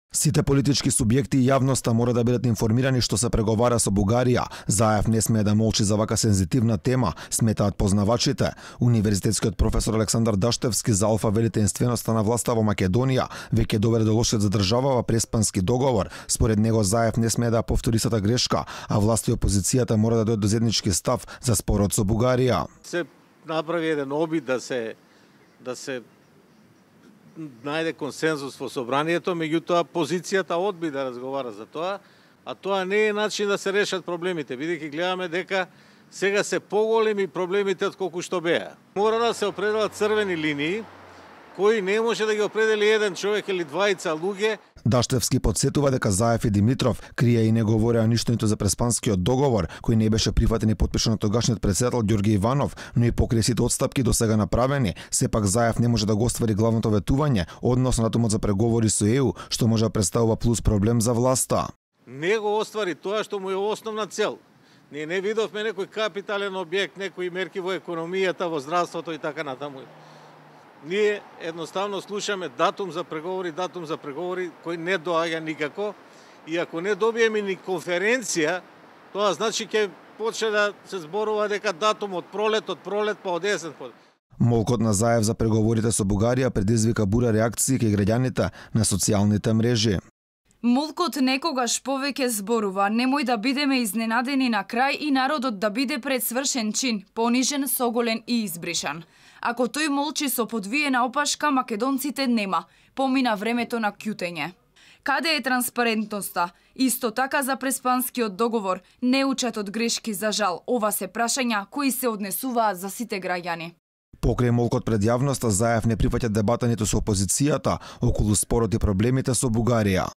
Сите политички субјекти и јавноста мора да бидат информирани што се преговара со Бугарија. Заев не смее да молчи за вака сензитивна тема, сметаат познавачите. Универзитетскиот професор Александар Даштевски за алфа вели тенственоста на власта во Македонија веќе доведе до лошиот за државава преспански договор. Според него Заев не смее да повтори истата грешка, а власта и опозицијата мора да дојдат до заеднички став за спорот со Бугарија. Се направи еден обид да се најде консензус во собранието, меѓутоа позицијата одби да разговара за тоа, а тоа не е начин да се решат проблемите, бидејќи гледаме дека сега се поголеми проблемите од колку што беа. Мора да се определат црвени линии, кои не може да ги определи еден човек или двајца луѓе. Даштевски подсетува дека Заев и Димитров крија и не говореа ништо ниту за преспанскиот договор, кој не беше прифатен и потпишан од тогашниот председател Ѓорѓе Иванов, но и покрај сите отстапки до сега направени, сепак Заев не може да го оствари главното ветување, односно датумот за преговори со ЕУ, што може да представува плюс проблем за власта. Не го оствари тоа што му е основна цел. Ние не видовме некој капитален објект, некои мерки во економијата, во здравството и така натаму. Ние едноставно слушаме датум за преговори, кој не доаѓа никако, и ако не добиеме ни конференција, тоа значи ќе почне да се зборува дека датум од пролет па од есен. Молкот на Заев за преговорите со Бугарија предизвика бура реакции кај граѓаните на социјалните мрежи. Молкот некогаш повеќе зборува, немој да бидеме изненадени на крај и народот да биде пред свршен чин, понижен, соголен и избришан. Ако тој молчи со подвиена опашка, македонците нема. Помина времето на ќутење. Каде е транспарентноста? Исто така за преспанскиот договор, не учат од грешки за жал. Ова се прашања кои се однесуваат за сите граѓани. Покрај молкот пред јавноста, Заев не прифаќа дебата ниту со опозицијата околу спорот и проблемите со Бугарија.